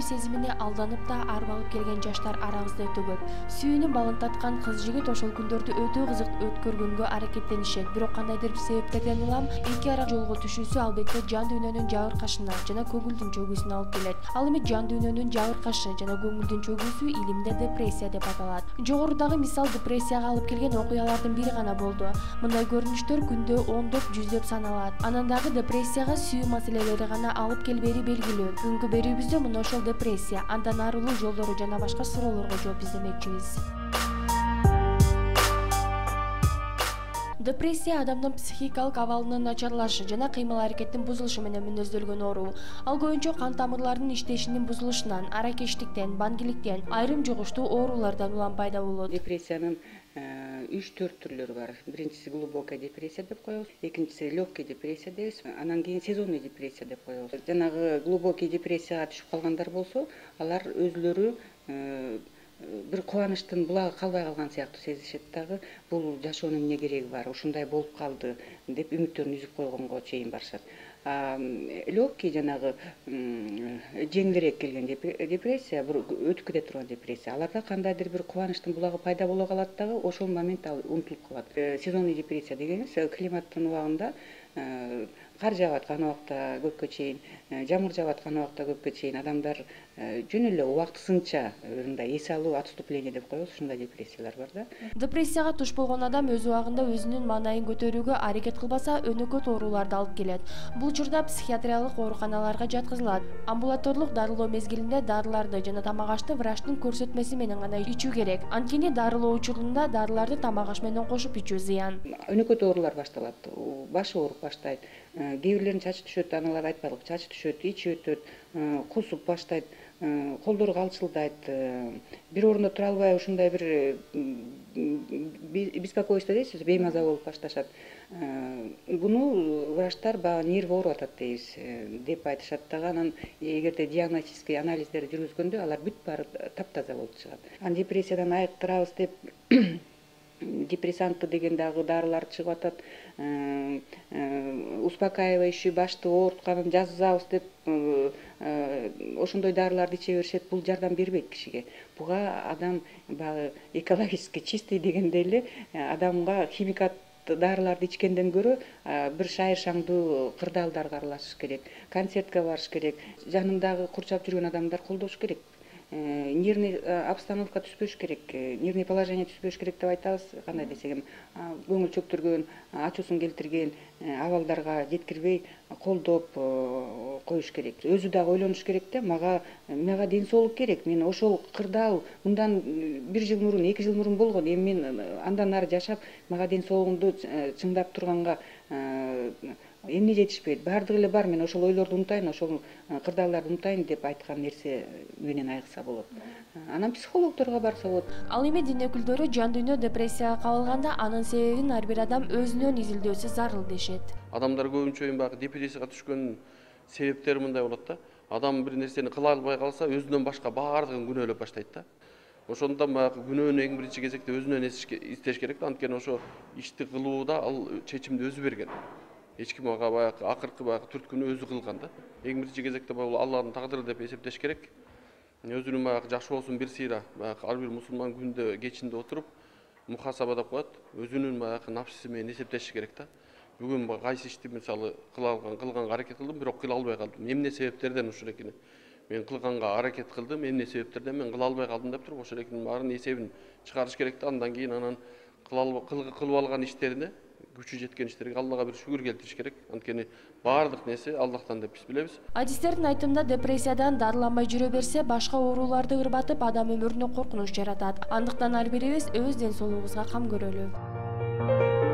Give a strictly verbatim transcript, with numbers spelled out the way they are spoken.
сезимине алданып да арбалып келген жаштар арабызда өтө көп. Сүйүүнүн балын таткан кыз-жигит ошол күндөрдү өтө кызык өткөргөнгө аракеттенишет. Бирок кандайдыр бир себептерден улам эки ара жолго түшүүсү албетте жан дүйнөнүн жабыркашына жана көңүлдүн чөгүүсүнө алып келет. Ал эми жан дүйнөнүн жабыркашы жана көңүлдүн чөгүүсү илимде депрессия деп аталат. Жогорудагы мисал депрессияга алып келген окуялардын бири гана болду. Мындай көрүнүштөр күндө ондоп, жүздөп саналат. Анан дагы депрессияга сүйүү маселелери гана алып келбери белгилүү. Бүгүнкү берүүбүздө мына ошол депрессия, андан арылуу жолдору жана башка суроолорго жооп издемекчибиз. Депрессия адамдын психикалык абалынын начарлашы жана кыймыл-аракеттин бузулушу менен мүнөздөлгөн оору. Ал көбүнчө кан тамырларынын иштешинин бузулушунан, аракештиктен, бангиликтен, айрым жугуштуу оорулардан улам пайда болот. Депрессиянын үч төрт түрлөрү бар. Биринчиси глубокая депрессия деп коебуз, экинчиси легкий депрессия дейбиз, анан кийин сезонный депрессия деп коебуз. Жанагы глубокий депрессияга түшүп калгандар болсо, алар өзүлөрү бир кубанычтын булагы калбай калган сыяктуу сезишет дагы, бул жашоонун эмне кереги бар, ушундай болуп калды деп үмүттөрүн үзүп койгонго чейин барышат. Легкий жанагы жеңилирээк келген депрессия, бир өтүп кете турган депрессия. Аларда кандайдыр бир кубанычтын булагы пайда боло калат дагы, ошол момент ал унутулуп калат. Сезонный депрессия дегенибиз климаттын убагында кар жаап аткан убакта көпкө чейин, жамгыр жаап аткан убакта көпкө чейин адамдар жөн эле убактысынча мындай эс алуу, отступление деп коебуз, ушундай депрессиялар бар да. Депрессияга туш болгон адам өз убагында өзүнүн маанайын көтөрүүгө аракет кылбаса, өнөкөт ооруларды алып келет. Бул учурда психиатриялык ооруканаларга жаткызылат. Амбулаторлук дарылоо мезгилинде дарыларды жана тамак ашты врачтын көрсөтмеси менен гана ичүү керек. Анткени дарылоо учурунда дарыларды тамак аш менен кошуп ичүү зыян. Өнөкөт оорулар башталат. Башы ооруп баштайт. Кээ бирлеринин чачы түшөт, аналар айтпадык, чачы түшөт, ичи өтөт, кусуп баштайт, колдору калчылдайт, бир орунда тура албай ушундай бир беспокойство дейсиз, беймаза болуп башташат. Буну врачтар баягы нерв ооруп атат дейбиз деп айтышат дагы. Анан эгерде диагностический анализдер жүргүзгөндө алар бүт баары таптаза болуп чыгат. Анан депрессиядан айыктырабыз деп депрессанты деген дагы дарылар чыгып атат. Успокаивающий, башты оорутканын жазабыз деп ошондой дарыларды иче беришет. Бул жардам бербейт кишиге. Буга адам баягы экологически чистый дегендей эле адамга химикат дарыларды ичкенден көрө бир шайыр шаңдуу кырдаалдарга аралашыш керек, концертке барыш керек, жанындагы курчап жүргөн адамдар колдош керек. Нервный обстановка түспөш керек, нервный положение түспөш керек деп айтабыз. Кандай десек эми, көңүл чөктүргөн, ачуусун келтирген абалдарга жеткирбей колдоп коюш керек. Өзү дагы ойлонуш керек да, мага мага ден соолук керек. Мен ошол кырдаал мындан бир жыл мурун, эки жыл мурун болгон. Эми мен андан ары жашап, мага ден соолугумду чыңдап турганга эмне жетишпейт, баардыгы эле бар, мен ошол ойлорду унутайын, ошол кырдаалдарды унутайын деп айткан нерсе менен айыкса болот. Анан психологдорго барса болот. Ал эми дин өкүлдөрү жан дүйнө депрессияга кабылганда анын себебин ар бир адам өзүнөн изилдөөсү зарыл дешет. Адамдар көбүнчө эми баягы депрессияга түшкөн себептери мындай болот да. Адам бир нерсени кыла албай калса, өзүнөн башка баардыгын күнөөлөп баштайт да. Ошондон баягы күнөөнү эң биринчи кезекте өзүнөн издеш керек да. Анткени ошо ишти кылууда ал чечимди өзү берген. Эч ким ага баягы акыркы баягы түрткүнү өзү кылган да. Эң биринчи кезекте бул Алланын тагдыры деп эсептеш керек. Өзүнүн баягы жакшы болсун бир сыйра, баягы ар бир мусулман күндө кечинде отуруп мухасаба деп коет. Өзүнүн баягы напсысы менен эсептеши керек да. Бүгүн кайсы ишти мисалы кыла алган, кылганга аракет кылдым, бирок кыла албай калдым. Эмне себептерден ушул экени? Мен кылганга аракет кылдым, эмне себептерден мен кыла албай калдым деп туруп ошол экенин баарын эсебин чыгарыш керек да. Андан кийин анан кылып алган иштерине, күчү жеткен иштерге Аллага бир шүгүр келтириш керек. Анткени баардык нерсе Аллахтан деп биз билебиз. Адистердин айтымында депрессиядан дарыланбай жүрө берсе, башка ооруларды ырбатып, адам өмүрүнө коркунуч жаратат. Андыктан ар бирибиз өз ден соолугубузга кам көрөлү.